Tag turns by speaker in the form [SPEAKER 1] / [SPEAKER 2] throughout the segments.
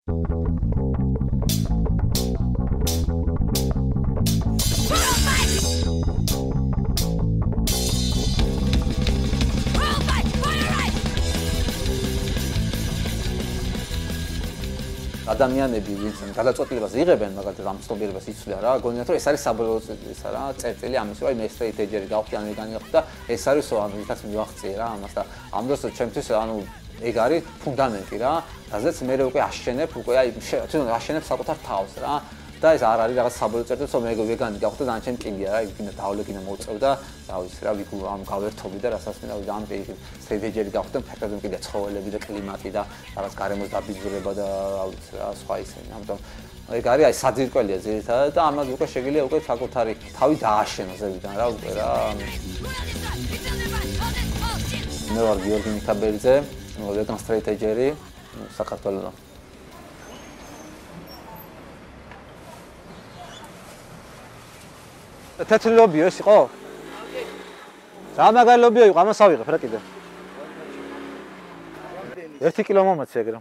[SPEAKER 1] ადამიანები ვინც გადაწყვეტილებას იღებენ, მაგალითად ამ ცნობიერებას იცვლიან რა, გონიათ რომ ეს არის საბოლოო ისა რა, წერტილი ამის რომ მე straight edge-ერი გავხდი ან ვეგანი გავხდი და ეს არის ანუ ვიღაც მივახციე რა ამას და ამ დროს ჩემთვის ანუ ეგ არის ფუნდამენტი რა, რაზეც მე უკვე აშენებ, უკვე აი თვითონ აშენებ საკუთარ თავს რა. და ეს არ არის რაღაც საბოლოო წერტილი, რომ მე ვეგანი გავხდი და ან ჩემ კიდია რა, იქ დავle კიდე მოუწევ და რა ვიცი რა, ვიგ ამ გავერთობი და რასაც მე და ამ straight edge-ერი გავხდი, ფერდობი კიდე ცხოველები და კლიმატი და რაღაც გარემოს დაბიძურება და რა ვიცი რა, სხვა ისინი. ამიტომ ეგ არის აი საძირკველია ძირითადად და ამაზე უკვე შეგიძლია უკვე საკუთარი თავი დააშენო ზევიდან რა უკვე რა. მე ვარ გიორგი მიქაბელიძე, ვეგან straight edge-ერი საქართველოს. თეთრი ლობიო ეს იყო? რა მაგარი ლობიო იყო, ამას ავიღებ რა კიდე. 1 კილო მომეცე ეგრე.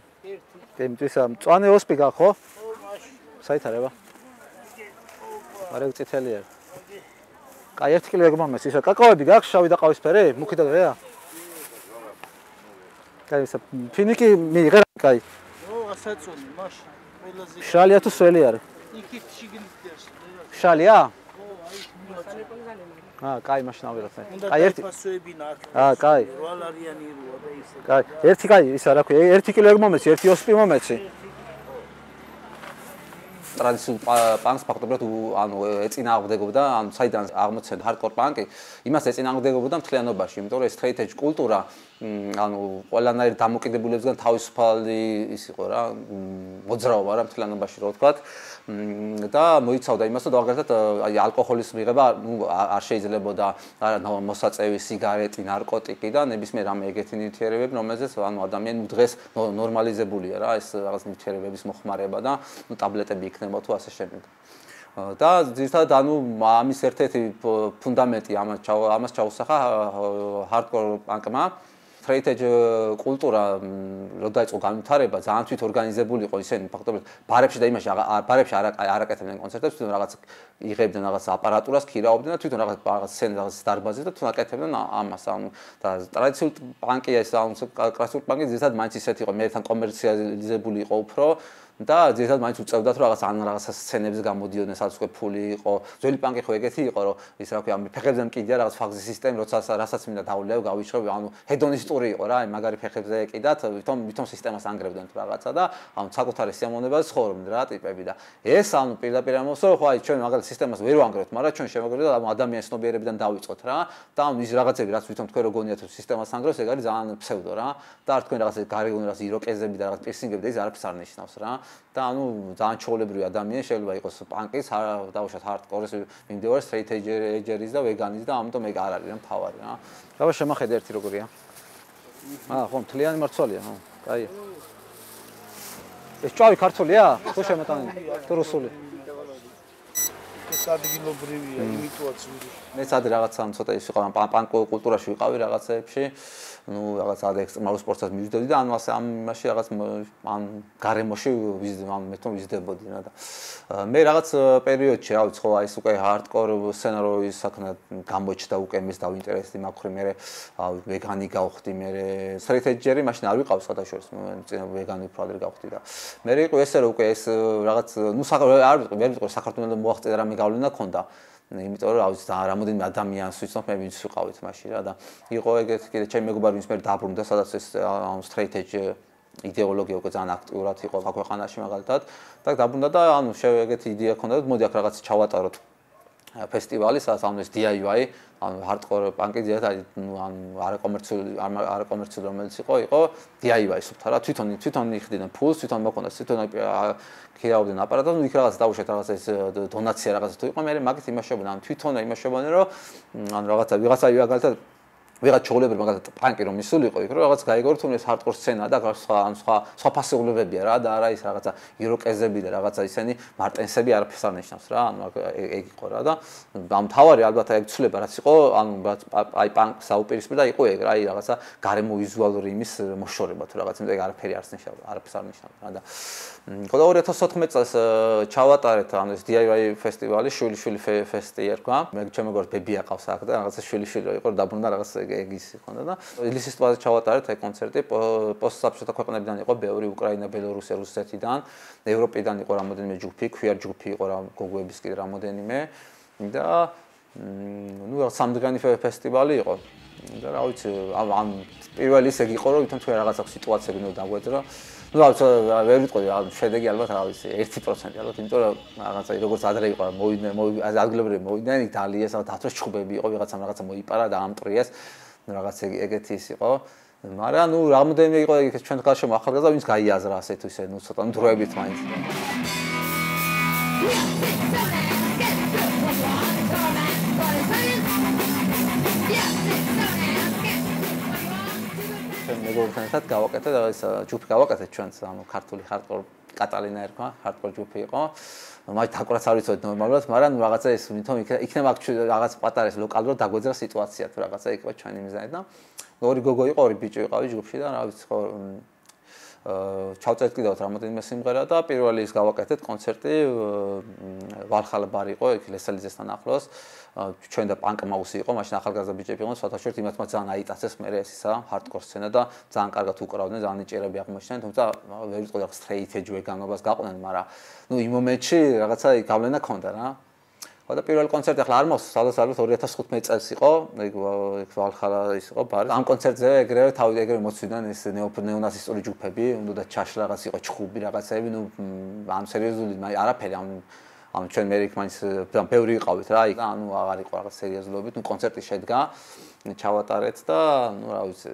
[SPEAKER 1] იმისთვის მწვანე ოსპი გა ხო? საითარება? არა წითელი არის. კაი 1 კილო ეგ მომეცე, ისა კაკაოები გაქვს შავი და ყავისფერი? მუქი და ღია? კაი ისა ფინიკი მიიღე რა კაი.
[SPEAKER 2] ო, ასაწონი, მაშ. ყველაზე
[SPEAKER 1] შალია თუ სველი არის?
[SPEAKER 2] იქით შიგნით.
[SPEAKER 1] შალია? კაი მაშინ ავიღებ მე.
[SPEAKER 2] კაი ერთი ფასოები ნახე.
[SPEAKER 1] კაი.
[SPEAKER 2] 8 ლარიანი როა და ისე.
[SPEAKER 1] კაი, ერთი კაი, ისა რა ქვია, 1 კილო ეგ მომეცი, 1 ოსპი მომეცი. ტრადიციულ პანკს ფაქტობრივად ანუ ეწინააღმდეგებოდა, ანუ საიდან აღმოცენდა hardcore პანკი, იმას ეწინააღმდეგებოდა მთლიანობაში, იმიტომ რომ ეს straight edge კულტურა ანუ ყველანაირ დამოკიდებულებებისგან თავისუფალი ის იყო რა, მოძრაობა რა მთლიანობაში რო ვთქვათ. და მოიცავდა იმას, რომ მაგალითად აი ალკოჰოლის მიღება არ შეიძლებოდა მოსაწევი, სიგარეტი, ნარკოტიკი და ნებისმიერ რამე ეგეთი ნივთიერებები, რომელზეც ანუ ადამიანი დღეს ნორმალიზებულია რა, ეს რაღაც ნივთიერებების მოხმარება და ტაბლეტები იქნება თუ ასე შემდეგ. და ზუსტად ანუ ამის ერთ-ერთი ფუნდამენტი ამას ჩაუსახა hardcore punk-მა. straight edge კულტურა რო დაიწყო განვითარება, ძალიან თვითორგანიზებული იყო ისინი ფაქტობრივად ბარებში და იმაში ბარებში არ აკეთებდნენ კონცერტებს, თვითონ რაღაც იღებდნენ რაღაც აპარატურას, ქირაობდნენ და თვითონ რაღაც სცენას დარბაზზე და თვითონ აკეთებდნენ ამას. ანუ და ტრადიციული პანკი ეს ანუ კლასიკური პანკი ზუსტად მაინც ისეთი იყო, მე თან კომერციალიზებული იყო უფრო და ზუსტად მაინც უწევდათ რომ რაღაც სცენებზე გამოდიოდნენ, სადაც უკვე ფული იყო. ძველი პანკი ხო ეგეთი იყო, რომ ის რა ქვია, ფეხებზე მკიდია რაღაც ფაგზის სისტემი, რასაც მინდა დავულევ, გავიშრობ, ანუ ჰედონისტური იყო რა, მაგარი ფეხებზე ეკიდათ, თვითონ სისტემას ანგრევდნენ თუ რაღაცა და ანუ საკუთარი სიამოვნებაზე ცხოვრობდნენ რა ტიპები და ეს ანუ პირდაპირ ამოსო, ხო აი ჩვენ მაგალითად სისტემას ვერ ვანგრევთ, მაგრამ ჩვენ შემოგვიყვება ამ ადამიანის ცნობიერებიდან დავიწყოთ რა და ანუ ის რაღაცები რაც თვითონ თქვენ რო გონიათ რომ სისტემას ანგრევს, ეგ არის ძალიან ფსევდო რა და არ თქვენ რაღაც გარეგან რაღაც იროკეზები და რაღაც პირსინგები და ის არაფერს არ ნიშნავს რა. და ანუ ძალიან ჩაოლებრივი ადამიანი შეიძლება იყოს პანკის, დავუშვათ hardcore-ის, მიმდევარ straight edge-ერის და ვეგანის და ამიტომ ეგ არ არის რა მთავარი რა. რა შემახედე ერთი როგორია? ხო, მთლიანი მარცვალია, ხო. კაია. ეს ჭავი ქართულია? თუ შემოტანილი? თუ რუსული?
[SPEAKER 2] ეს ადგილობრივია, იმიტოაც ვირი.
[SPEAKER 1] მეც ადრე რაღაცა ცოტა ის იყო, პანკ კულტურაში ვიყავი რაღაცეებში. ну რაღაც ად ექსტრემალურ სპორტსაც მივიძებდი და ანუ ასე ამაში რაღაც ამ გარემოში მე თვითონ ვიზრდებოდი რა და მე რაღაც პერიოდში რა ვიცი ხო აი ეს უკვე hardcore სცენარო ის საქმე გამოჩნდა უკვე მის დავინტერესდი მაგხრი მე ვეგანი გავხდი მე straight edge-ერი მაშინ არ ვიყავს სხვადასხვა წინა ვეგანი უფრო ადრე გავხდი და მე იყო ესე რომ უკვე ეს რაღაც ну არ ვიტყვი საქართველოს მოაღწია რამე გავლენა ქონდა იმიტომ რომ ავიც რამოდენიმე ადამიანს ვიცნობ მე ვინც ვიყავით მაშინ რა და იყო ეგეთი კიდე ჩემი მეგობარი ვინც მე დაბრუნდა სადაც ეს straight edge იდეოლოგია უკვე ძალიან აქტიურად იყო ქვეყანაში მაგალითად და დაბრუნდა და ანუ ეგეთი იდეა ქონდა და მოდი აქ რაღაც ჩავატაროთ ფესტივალი სადაც ანუ ეს DIY ანუ hardcore punk-ი ძირითადად ანუ არაკომერციული რომელიც იყო DIY სუფთა რა თვითონ იხდიდნენ ფულს თვითონ მოქონდა თვითონ ქირავდნენ აპარატს ნუ იქ რაღაც დაუშვათ რაღაც ეს დონაცია რაღაცა თუ იყო მე მაგით იმაშობდნენ ანუ თვითონ იმაშობდნენ რომ ანუ რაღაცა ვიღაცა მაგალითად ვიღაც ჩოგლებრი მაგალითად პანკი რომ ისულიყო იქ რომ რაღაც გაიგორო თუნდაც ჰარდკორ სცენა და სხვა ფასეულებებია რა და არა ის რაღაცა იროკეზები და რაღაცა ისენი მარტენსები არაფერს არ ნიშნავს რა ანუ ეგ იყო რა და ამ თავარი ალბათ ეგ ცვლილება რაც იყო ანუ აი პანკს აუპირისპირდა იყო ეგ რა აი რაღაცა გარემო ვიზუალური იმის მოშორება თუ რაღაც იმიტომ ეგ არაფერი არ ნიშნავს არაფერს არ ნიშნავს რა და ხო და 2014 წელს ჩავატარეთ ანუ ეს DIY ფესტივალი შვილიშვილი ფესტი ერქვა მე ჩემ მეგობრს ბებია ყავს აქ და რაღაცა შვილიშვილი იყო დაბრუნდა რაღაც ეგ ის ხონდა და ილისის ტბაზე ჩავატარეთ აი კონცერტი პოსტსაბჭოთა ქვეყნებიდან იყო ბევრი უკრაინა ბელორუსია რუსეთიდან ევროპიდან იყო რამოდენიმე ჯგუფი ქვიარ ჯგუფი იყო რა გოგოების კიდე რამოდენიმე და ნუ სამდღიანი ფესტივალი იყო და რა ვიცი ამ პირველი ისე იყო რომ თვითონ თუ რაღაც აქვს სიტუაციები ნუ დაგვეძრა ნუ ვერ ვიტყოდი რა შედეგი ალბათ რა ვიცი 1% ალბათ იმიტომ რომ რაღაცა როგორც ადრე იყო მოვიდნენ ადგილობრივი მოვიდნენ იქ დალიეს დათოს ჩხუბები იყო ვიღაცამ რაღაცა მოიპარა და ამტრიეს რაღაც ეგეთი ის იყო მაგრამ ნუ რამოდენიმე იყო იქ ჩვენ გარშემო ახალგაზრდა ვინც გაიაზრა ასე თუ ისე ნუ ცოტა დროებით მაინც მეგობრებთან გავაკეთე და ეს ჯგუფი გავაკეთე ჩვენს ანუ ქართული ჰარდკორ კატალინა ერქვა ჰარდკორ ჯგუფი იყო მაგ თაკურაც არ ვიცოდი ნორმალურად მაგრამ რაღაცა ეს თვითონ იქნება რაღაც პატარა ეს ლოკალურად დაგვეძრა სიტუაცია თუ რაღაცა იქნება ჩვენი მიზანი და ორი გოგო იყო ორი ბიჭი ვიყავი ჯგუფში და რა ვიცი ხო ჩავწერეთ კიდევ რამოდენიმე სიმღერა და პირველი ის გავაკეთეთ კონცერტი ვალხალა ბარი იყო იქ ლესელიძესთან ახლოს ჩვენ და პანკ მაუსი იყო მაშინ ახალგაზრდა ბიჭები იყვნენ სხვათაშორით იმათ მათ ძალიან აიტაცეს მე ესა ჰარდკორ სცენა და ძალიან კარგად უკრავდნენ ძალიან ნიჭიერები აღმოჩნდნენ თუმცა ვერ ვიტყოდი რა სტრეით ეჯ ვეგანობას გაყვნენ მაგრამ ნუ იმ მომენტში რაღაცა გავლენა ქონდა რა ხო და პირველი კონცერტი ახლა არ მოს სადაც ალბათ 2015 წელს იყო ეგ ვალხალა ის იყო ბარი ამ კონცერტზე ეგრევე თავი ეგრევე მოცვიდნენ ეს ნეონაცისტური ჯგუფები უნდა და ჩაშლა რაღაც იყო ჩხუბი რაღაცები ნუ ამ სერიოზული არაფერი ამ ჩვენ მე იქ მაინც ბევრი იყავით რა იქ ანუ აღარ იყო რაღაც სერიოზულობით ნუ კონცერტი შედგა ჩავატარეთ და ნუ რა ვიცი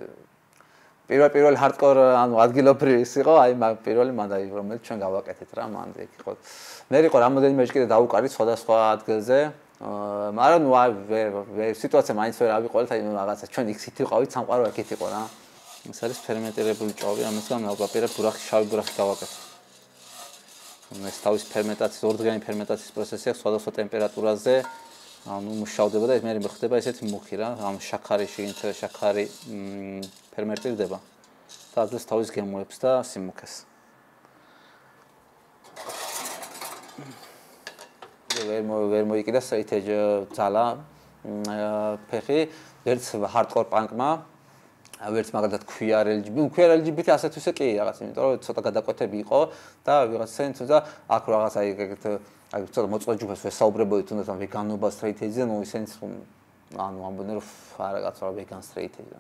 [SPEAKER 1] პირველი ჰარდკორ ანუ ადგილობრივი ის იყო აი პირველი მანდაი რომელიც ჩვენ გავაკეთეთ რა მანდ იქ იყო მე იყო რამოდენიმე ჯერ კიდე დაუკარით სხვადასხვა ადგილზე მაგრამ ნუ აი სიტუაცია მაინც ვერ ავიყოლეთ აი რაღაცა ჩვენ იქით ვიყავით სამყარო აქეთ იყო რა ეს არის ფერმენტირებული ჭოვი ამასგან ნაგვაპირებ ბურახი შავი ბურახი გავაკეთე ეს თავის ფერმენტაციის ორდღიანი ფერმენტაციის პროცესი აქვს სხვადასხვა ტემპერატურაზე ანუ მუშავდება და ეს მე ხდება ესეთი მუქი რა ამ შაქარი შიგნით შაქარი ფერმენტირდება და აძლევს თავის გემოებს და სიმუქეს ვერ მოიკიდა სეითეჯ ძალა ფეხი ვერც ჰარდკორ პანკმა ვერც მაგალითად ქვიარ LGBT ასე თუ ისე კი რაღაც იმიტომ რომ ცოტა გადაკვეთები იყო და ვიღაცენ თუნდაც აქ რაღაც აი ეგეთ აი ცოტა მოწყვა ჯგუფს ვესაუბრებოდი თუნდაც ამ ვეგანობა straight edge-ზე ნუ ისენიც ანუ ამბობდნენ რომ არაგაც რა ვეგან straight edge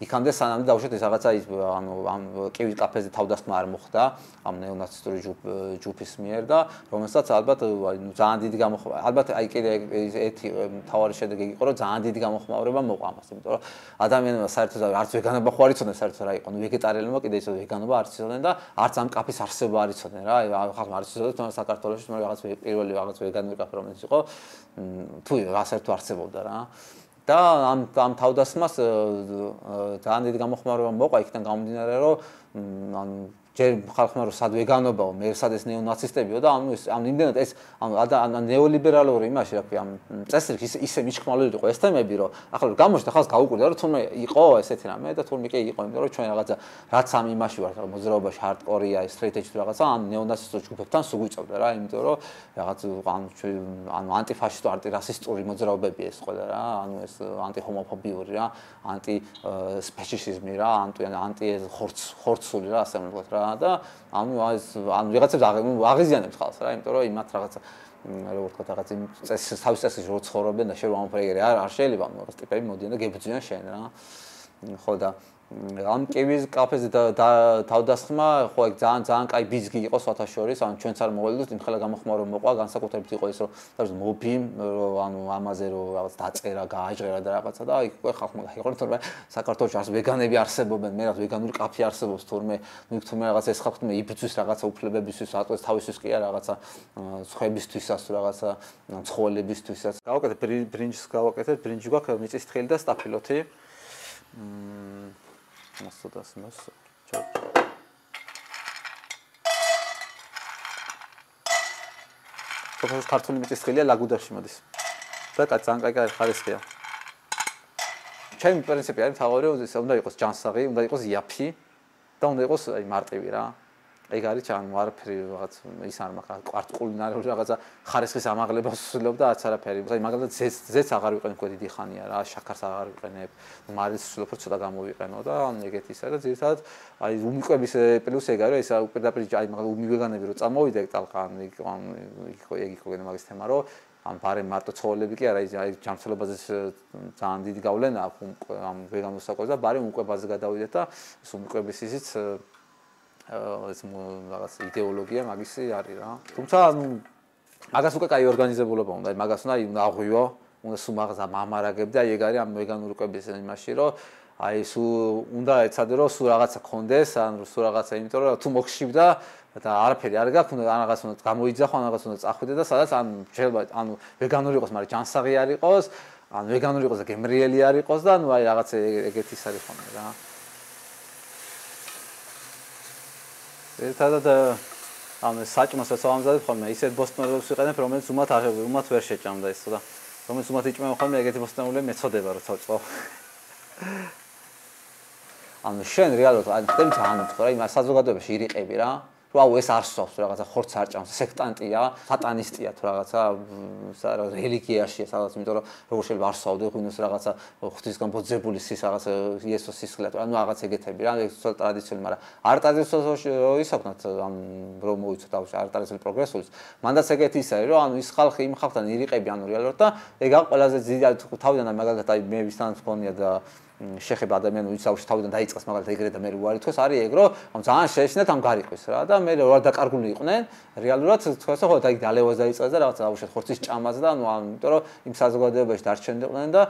[SPEAKER 1] იქამდე სანამ დავუშვათ ეს რაღაცა ის ანუ ამ კივი კაფეზე თავდასხმა არ მოხდა ამ ნეონაცისტური ჯგუფის მიერ და რომელსაც ალბათ ნუ ძალიან დიდი გამოხმაურება ალბათ აი კიდე ერთი თავარი შედეგი იყო რომ ძალიან დიდი გამოხმაურება მოყვა ამას იმიტომ რომ ადამიანებმა საერთოდ არც ვეგანობა ხო არ იცოდნენ საერთოდ რა იყო ნუ ვეგეტარიანებმა კიდე ისე ვეგანობა არ იცოდნენ და არც ამ კაფის არსება არ იცოდნენ რა ხალხმა არ იცოდნენ თუნდაც საქართველოში მაგრამ რაღაც პირველი რაღაც ვეგანური კაფე რომელიც იყო თუ რა საერთოდ არსებობდა რა და ამ თავდასხმას ძალიან დიდი გამოხმაურება მოყვა იქიდან გამომდინარე რომ ანუ ჯერ ხალხმა რომ სად ვეგანობაო მე სად ეს ნეონაცისტებიო და ანუ ეს ამ იმდენად ეს ანუ ნეოლიბერალური იმაში რა ქვია ამ წესრიგ ისე მიჩქმალული იყო ეს თემები რომ ახლა გამოჩნდა ხალხს გაუკვირდა რომ თურმე იყო ესეთი რამე და თურმე კი იყო იმიტომ რომ ჩვენ რაღაცა რაც ამ იმაში ვართ რომ მოძრაობაში ჰარდკორია straight edge რაღაცა ამ ნეონაცისტურ ჯგუფებთან სუგვიწევდა რა იმიტომ რომ რაღაც ანუ ანტიფაშისტო ანტირასისტური მოძრაობები ეს ყველა რა ანუ ეს ანტიჰომოფობიური რა ანტი სპეციფიზმი რა ანტი ხორცული რა ასე ვთქვათ რა და ანუ ვიღაცებს აღიზიანებს ხალხს რა იმიტომ რომ იმათ რაღაცა როგორ ვთქვათ რაღაც იმ თავის წესის რო ცხოვრობენ და შენ ამფრეგერი არ შეიძლება ამ ტიპები მოდიან და გებრძვიან შენ რა ხო და ამ კივის კაფეზე თავდასხმა ხო ეგ ძალიან კაი ბიზგი იყო სხვათა შორის ანუ ჩვენც არ მოველოდოთ იმ ხელა გამოხმაურება მოყვა განსაკუთრებით იყო ის რომ მობი ანუ ამაზე რომ რაღაც დაწერა გააჟღერა და რაღაცა და იქ ხალხმა გაიყარა თორემ საქართველოში არც ვეგანები არსებობენ მე რა ვეგანური კაფე არსებობს თორემ ნუ თორემ რაღაც ეს ხალხი მე იბრძვის რაღაცა უფლებებისთვის ატყვის თავისთვის კი არა რაღაცა ხვებისთვისაც რაღაცა ცხოველებისთვისაც გავაკეთე ბრინჯს გავაკეთეთ ბრინჯი გვაქვს მიწის თხილი და სტაფილოთი მასოდას სოფოს ქართული მიწისქვილია ლაგუდაში მოდის. და ძალიან კაი ხარისხია. ჩემი პრინციპი არის თავი, უნდა იყოს ჯანსაღი, უნდა იყოს იაფი და უნდა იყოს აი მარტივი რა. ეგ არის ჩან არაფერი რაღაც ის არ მაქვს კვარტკულინარული რაღაცა ხარისხის ამაღლებას ვსვლობ და არც არაფერი. აი მაგალითად ზეც აღარ ვიყენებ უკვე დიდი ხანია რა, შაქარს აღარ ვიყენებ, მარის ვსვლობ რომ ცოტა გამოვიყენო და ეგეთი ისაა და ძირითადად აი უმიკვების პლუს ეგ არის, ისა პირდაპირ აი მაგალითად უმივეგანები რომ წამოვიდე ტალყან ეგ იყო მაგის თემა რომ ამ ბარემ მარტო ცხოველები კი არა აი ჯანმრთელობაზე ძალიან დიდი გავლენა აქვს ამ ვეგან მოსაკვეთს და ბარემ უმკვებაზე გადავიდეთ და ეს უმკვების ისიც ეს რაღაც იდეოლოგია მაგისი არის რა. თუმცა ანუ მაგას უკვე კაი ორგანიზებულობა უნდა, აი მაგას უნდა აღვიო, უნდა სულ მაგას ამარაგებდა, აი ეგ არის ამ ვეგანური კვების იმაში, რომ აი სულ უნდა ეცადე რომ სულ რაღაცა კონდეს, ან სულ რაღაცა, იმიტომ რომ თუ მოგშიბდა და არაფერი არ გაქვს, უნდა რაღაც უნდა გამოიძახო, რაღაც უნდა წახვიდე და სადაც ან შეიძლება ანუ ვეგანური იყოს, მაგრამ ჯანსაღი არ იყოს, ან ვეგანური იყოს და გემრიელი არ იყოს და ანუ აი რაღაც ეგეთი ის არის ხოლმე რა. ერთადად ამ საჭმელსაც ავამზადებ ხოლმე ისეთ ბოსტნეულებს ვიყენებ რომელიც უმათ ვერ შეჭამდა ეს და რომელიც უმათ იჭმება ხოლმე ეგეთი ბოსტნეულები მეწოდება რომ თოწყო ანუ შენ რეალურად ან თქვენ ძალიან უცხო რა იმ საზოგადოებაში ირიყები რა ვაუ ეს არ სწავს რაღაცა ხორცს არ ჭამს სექტანტია სატანისტია თუ რაღაცა რელიგიაშია სადაც იმიტომ რომ როგორ შეიძლება არ სწავდე ღვინოს რაღაცა ღვთისგან ბოძებული სის რაღაცა იესოს სისხლად ანუ რაღაც ეგეთები რა ეს ცოტა ტრადიციული მაგრამ არ ტრადიციული რო ისავნათ ამ რომ მოიცოთ არ ტრადიციული პროგრესულს მანდაც ეგეთი ის არის რომ ანუ ის ხალხი იმ ხალხთან ირიყები ანუ რეალურად და ეგ აქვს ყველაზე დიდი თავიდან მაგალითად აი მე ვისთან მქონია და შეხება ადამიანური საუბარში თავიდან დაიწყეს მაგალითად ეგრე და მე უარი თქოს არის ეგ რომ ძალიან შეეშინათ ამ გარიყვის რა და მე რა დაკარგული იყვნენ რეალურად თქოს ხო და იქ დალევას დაიწყეს და რაღაცა აუშეთ ხორცის ჭამას და ანუ იმიტომ რომ იმ საზოგადოებაში დარჩენიყვნენ და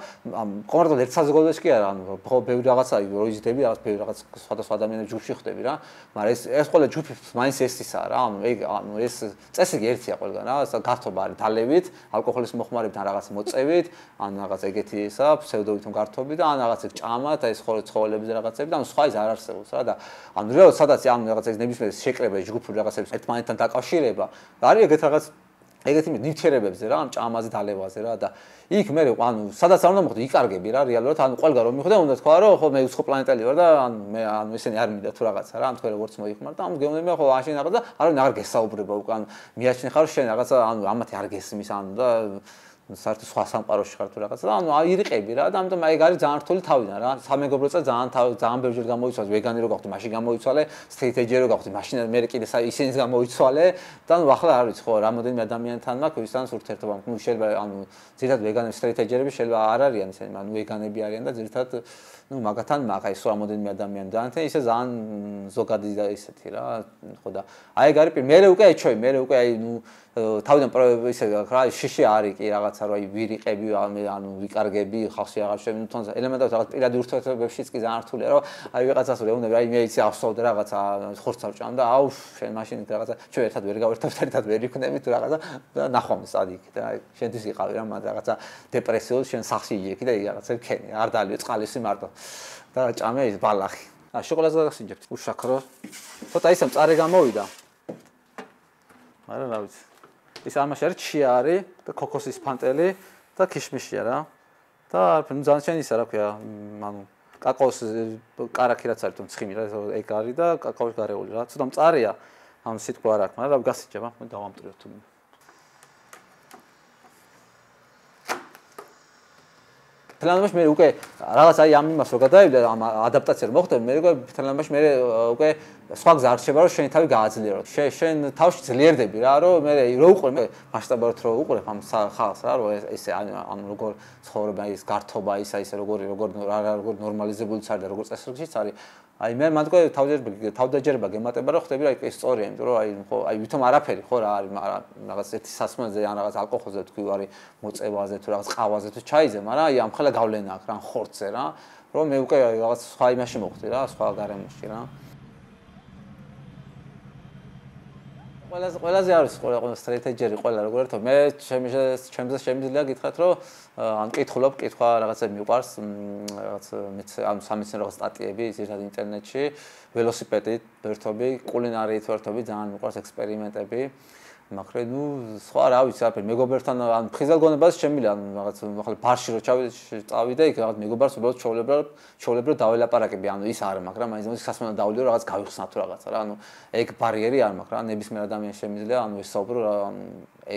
[SPEAKER 1] კონკრეტულად ერთ საზოგადოებაში კი არა ანუ ხო ბევრი რაღაცა რო იზიდები რაღაც ბევრი რაღაც სხვადასხვა ადამიანების ჯგუფში ხდები რა მაგრამ ეს ყველა ჯგუფი მაინც ეს ისაა რა ანუ ეგ ანუ ეს წესრიგი ერთია ყველგან რა გართობა არის დალევით ალკოჰოლის მოხმარებთან რაღაც მოწევით ან რაღაც ეგეთი ისა ფსევდოვითი გართობი და ან რაღაც ჭამა და ეს ცხოველების რაღაცები და ანუ სხვა ის არ არსებობს რა და ანუ რეალურად სადაც ანუ რაღაც ეს ნებისმიერ შეკრება ჯგუფური რაღაცების ერთმანეთთან დაკავშირება არის ეგეთ რაღაც ეგეთი ნივთიერებებზე რა ამ ჭამაზე დალევაზე რა და იქ მე ანუ სადაც არ უნდა მოხდე იკარგები რა რეალურად ანუ ყველგან რომ მიხვდე უნდა თქვა რომ ხო მე უცხო პლანეტელი ვარ და ანუ მე ანუ ესენი არ მინდა თუ რაღაცა რა ანუ თქვენ როგორც მოიხმარ და ანუ გეუბნები ხო აშენ რაღაც და არავინ აღარ გესაუბრება უკან მიაჩნი ხარ შენ რაღაცა ანუ ამათი არ გესმის ანუ და საერთოდ სხვა სამყაროში ხარ თუ რაღაცა და ანუ ირიყები რა და ამიტომ აი ეგ არის ძალიან რთული თავიდან რა სამეგობრო წა ძალიან ბევრჯერ გამოიცვალე ვეგანი რო გავხდი მაშინ გამოიცვალე სტრიტ ეჯერი რო გავხდი მაშინ მე კიდე ისინიც გამოიცვალე და ანუ ახლა არ ვიცი ხო რამოდენიმე ადამიანთან მაქვს ვისთან ურთიერთობა ნუ შეიძლება ანუ ძირითადად ვეგანები სტრიტ ეჯერები შეიძლება არ არიან ისინი ანუ ვეგანები არიან და ძირითადად ნუ მაგათან მაგ აი სხვა რამოდენიმე ადამიანი დაანთე ისე ძალიან ზოგადი და ისეთი რა ხო და აი ეგ არის მე უკვე ეჩვევი მე უკვე აი ნუ თავიდან ისე რა შიში არის კი რაღაცა რომ აი ვირიყები ანუ ვიკარგები ხალხში აღარ შევიდე თუნდაც ელემენტარულად რაღაც პირადი ურთიერთობებშიც კი ძალიან რთულია რომ აი ვიღაცას რეუნები აი მე იცი ავსოვდე რაღაცა ხორცს ავჭამ და აუ შენ მაშინ რაღაცა ჩვენ ერთად ვერ გავერთობთ ერთად ვერ იქნები თუ რაღაცა და ნახვამს ადი იქ და აი შენთვის იყავი რა მაგ რაღაცა დეპრესიულ შენ სახში იექი და რაღაცა ქენი არ დალიო წყალისი მარტო და ჭამე ის ბალახი ა შოკოლადს გაგასინჯებთ უშაქრო ცოტა ისე მწარე გამოვიდა მაგრამ რა ვიცი ის ამაში არის ჩია არის და ქოქოსის ფანტელი და ქიშმიშია რა და ნუ ძალიან შენ ისა რა ქვია ანუ კაკაოს კარაქი რაც არის თუ ცხიმი რა ეგ არის და კაკაოს გარეული რა ცოტა მწარეა ამ სიტყვა არ აქვს მაგრამ რა გასიჯება მე დავამტვრიო თუ თლიანობაში მე უკვე რაღაც აი ამ იმას რო გადავიდა ამ ადაპტაცია რო მოხდა მე უკვე თლიანობაში მე უკვე სხვა გზა არ რჩება რომ შენი თავი გააძლიერო შენ თავში ძლიერდები რა რომ მე რო უყურე მასშტაბურად რო უყურებ ამ ხალხს რა რომ ესე ანუ როგორ ცხოვრება ის გართობა ისა ისე როგორ ნორმალიზებულიც არის და როგორ წესრიგშიც არის აი მე მანდ უკვე თავდაჯერება გემატება რომ ხდები რა ის სწორია იმიტომ რომ აი ხო აი ვითომ არაფერი ხო რა არის რაღაც ერთი სასმელზე ან რაღაც ალკოჰოლზე თქვი არის მოწევაზე თუ რაღაც ყავაზე თუ ჩაიზე მაგრამ აი ამ ხელა გავლენა აქვს რა ხორცზე რა რომ მე უკვე რაღაც სხვა იმაში მოხდი რა სხვა გარემოში რა ყველაზე არის ყველა სტრატეჯიერი ყველა როგორ ერთო მე ჩემზე შემიძლია გითხრათ რომ ან კითხულობ კითხვა რაღაცა მიყვარს რაღაც ამ სამეცნიერო სტატიები ზოგადად ინტერნეტში ველოსიპედით ვერთობი კულინარიით ვერთობი ძალიან მიყვარს ექსპერიმენტები მაგრამ ნუ სხვა რა ვიცი აფერ მეგობართან ან ფხიზელ გონებას შემიძლია ან რაღაც ახლა ბარში რო წავიდე იქ რაღაც მეგობარს უბრალოდ ჩაოლებრო დაველაპარაკები ანუ ის არა მაგრამ მაინც სასმენა დავლიო რაღაც გავიხსნა თუ რაღაცა რა ანუ ეგ ბარიერი არ მაქვს რა ნებისმიერ ადამიანს შემიძლია ანუ ვისაუბრო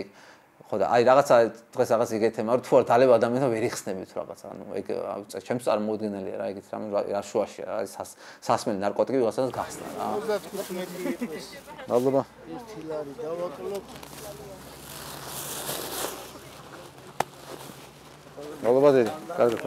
[SPEAKER 1] ეგ ხო და აი რაღაცა დღეს რაღაც იგივე თემა რომ თუ არ დალევ ადამიანს ვერ იხსნებით რაღაცა ანუ ეგ ჩემს წარმოუდგენელია რა ეგეთ რამე რა შუაშია რა სასმელი ნარკოტიკი ვიღაცას გახსნა რა
[SPEAKER 2] 35 იყოს
[SPEAKER 1] მადლობა
[SPEAKER 2] ერთი ლარი დავაკლობ
[SPEAKER 1] მადლობა დიდი კარგად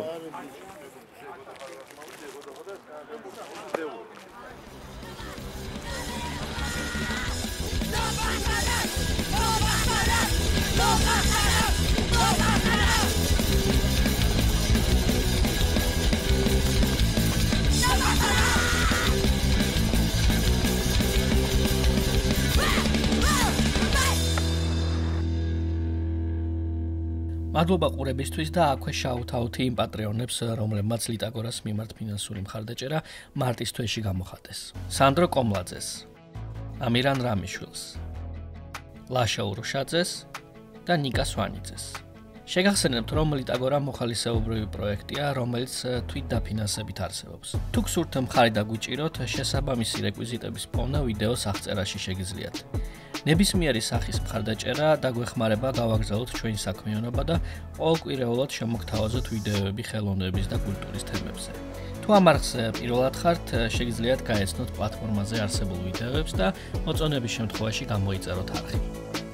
[SPEAKER 3] მადლობა ყურებისთვის და აქვე შაუთაუთი იმ პატრეონებს, რომლებმაც ლიტაგორას მიმართ ფინანსური მხარდაჭერა მარტის თვეში გამოხატეს. სანდრო კომლაძეს, ამირან რამიშვილს, ლაშა ურუშაძეს და ნიკა სვანიძეს. შეგახსენებთ, რომ ლიტაგორა მოხალისეობრივი პროექტია, რომელიც თვით დაფინანსებით არსებობს. თუ გსურთ მხარი დაგვიჭიროთ, შესაბამისი რეკვიზიტების პოვნა ვიდეოს აღწერაში შეგიძლიათ. ნებისმიერი სახის მხარდაჭერა დაგვეხმარება გავაგრძელოთ ჩვენი საქმიანობა და ყოველკვირეულად შემოგთავაზოთ ვიდეოები ხელოვნების და კულტურის თემებზე. თუ ამ არხზე პირველად ხართ, შეგიძლიათ გაეცნოთ პლატფორმაზე არსებულ ვიდეოებს და მოწონების შემთხვევაში გამოიწეროთ არხი.